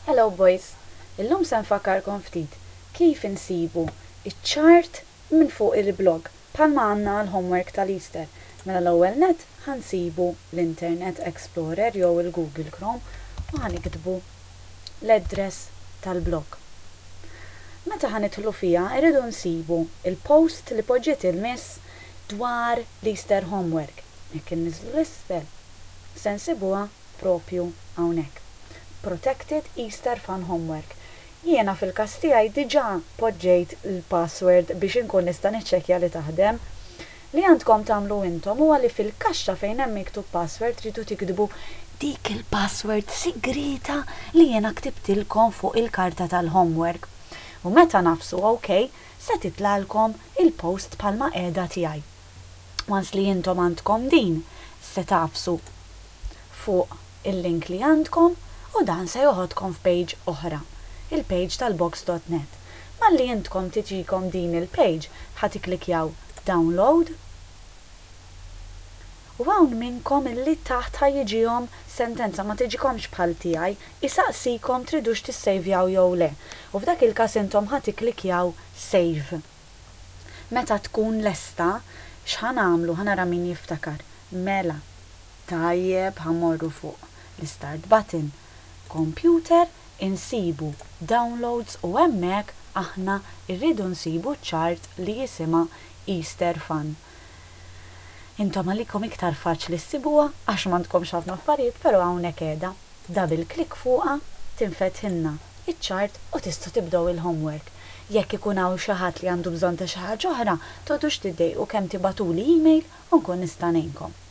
Hello boys, illum se nfakkarkom ftit kif insibu iċ-chart minn fuq il-blog bħalma għandna għal-homework tal-Easter. Mela l-ewwel nett ħa nsibu l-Internet Explorer jew il-Google Chrome u ħa niktbu l-address tal-blog. Meta ħa nidħlu fiha, irridu nsibu il-post li poġġiet il-miss dwar l-Easter homework. Jekk inniżlu 'l isfel, se nsibuha propju hawnhekk. Protected Easter Fun Homework. Jiena fil-każ tiegħi diġà poġġejt il-password biex inkun nista' niċċekkja li taħdem. Li għandkom tagħmlu intom huwa li fil-kaxxa fejn hemm miktub password tridu tiktbu dik il-password sigrita li jiena ktibtilkom fuq il-karta tal-homework. U meta nagħfsu OK, se titlalkom il-post bħalma qiegħda tiegħi. Once li intom għandkom din, se tagħfsu fuq il-link li għandkom u dan se joħodkom f'page oħra, il-page tal-box.net. Malli intkom tiġikom din il-page, ħa tikklikjaw download u hawn minnkom illi taħt ħa jiġihom sentenza, ma tiġikomx bħal tiegħi, isaqsikom tridux tissejvjaw jew le. U f'dak il-każ intom ħa tikklikjaw save. Meta tkun lesta, x'ħa nagħmlu? Ħa nara min jiftakar. Mela, tajjeb, ħa mmorru fuq l-start button. Computer, insibu downloads u hemmhekk aħna rridu nsibu chart li jisimha Easter Fun. Intom għalikom iktar faċli ssibuha għax m'għandkomx ħafna affarijiet, però hawnhekk qiegħda. Double click fuqha, tinfetħilna iċ-chart u tistgħu tibdew il-homework. Jekk ikun hawn xi ħadd li għandu bżonn ta' xi ħaġa oħra, toqgħodux tiddejqu kemm tibagħtuli email u nkun nista' ngħinkom.